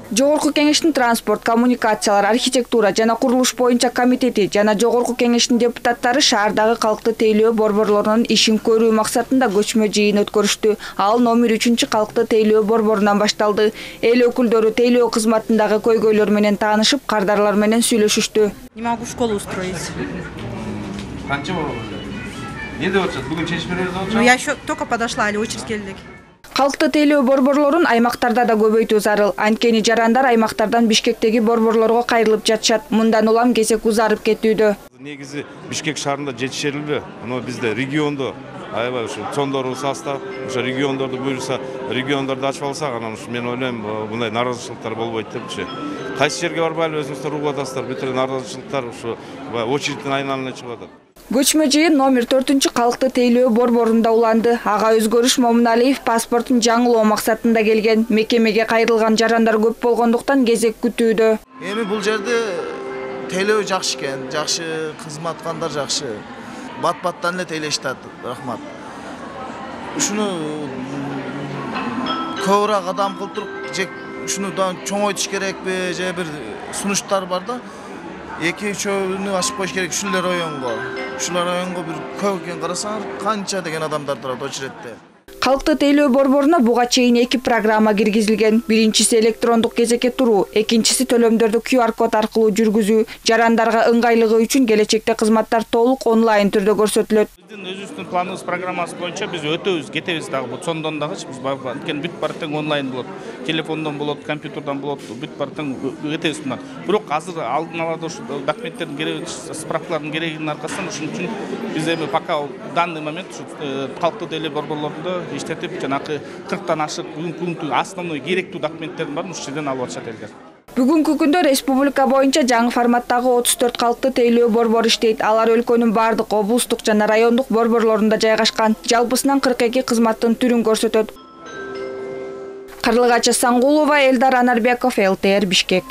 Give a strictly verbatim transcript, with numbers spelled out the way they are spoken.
Жогорку кеңештин транспорт, коммуникациялар, архитектура жана курулуш боюнча комитети жана Жогорку кеңештин депутаттары шаардагы калкты тейлөө борборлорунун ишин көрүү максатында көчмө жыйын өткөрүштү. Ал номер үчүнчү калкты тейлөө борборунан башталды. Эл өкүлдөрү тейлөө кызматындагы көйгөйлөр менен таанышып, кардарлар менен сүйлөшүштү. Не могу школу устроить. Канча болду? Эмне деп атышат? Бүгүн чечим беребиз деп атышат? Ну я еще только подошла, или очередь келдик. Калкты тейлөө борборлорун аймактарда да көбөйтүү зарыл. Анткени жарандар аймактардан Бишкектеги борборлорго кайрылып жатышат. Мындан улам кезек узарып кетүүдө. Негизи Бишкек шаарында жетишерлби? Мына бизде региондо аябай ушу цондору состав, ошо региондорду буюрса, региондорду ачып алсак, анан ушу мен ойлойм, мындай нааразычылыктар болбойт депчи. Кайсы жерге барбайлы өзүңүздөр угуп атасыздар, бүт эле нааразычылыктар ушу очередтин айналына чыгып атат. Көчмө жыйын номер төртүнчү калкты тейлөө борборунда уланды. Ага өзгөрүш Момуналиев паспортун жаңылоо максатында келген. Мекемеге кайрылган жарандар көп болгондуктан кезек күтүүдө. Эми бул жерде тейлөө жакшы экен, жакшы кызматкандар жакшы. Бат-баттан эле тейлешти, рахмат. Ушуну көбүрөөк адам кылтырып, же ушуну чоңойтуш керекпи, же бир сунуштар бар да. Эки үчөөнү ачып коюш керек ушулар районго. Ушулар районго бир көп экен карасаңар, канча деген адамдар турат очередте. Калкты тейлөө борборуна буга чейин эки программа киргизилген. Биринчиси электрондук кезекке туруу, экинчиси төлөмдөрдү ку ар код аркылуу жүргүзүү. Жарандарга ыңгайлыгы үчүн келечекте кызматтар толук онлайн түрдө көрсөтүлөт. Биздин өзүбүздүн планыбыз программасы боюнча биз өтөбүз, кетебиз дагы бу сондон дагы биз анткени бүт баары тең онлайн болот. Телефондон болот, компьютердон болот, бүт баары тең кетебиз мындан. Бирок азыр алдын ала ушу документтердин кереги, справкалардын керегинин аркасынан ушун үчүн биз эми пока данный момент ушу калкты тейлөө борборлорунда иштетип жанакы кырктан ашык бүгүнкү основной керектүү документтердин баарын ушул жерден алып атышат элдер. Бүгүнкү күндө республика боюнча жаңы форматтагы отуз төрт калкты тейлөө борбору иштейт. Алар өлкөнүн бардык облустук жана райондук борборлорунда жайгашкан. Жалпысынан кырк эки кызматтын түрүн көрсөтөт. Карлыгачы Саңгулова, Элдар Анарбеков, эл тэ эр Бишкек.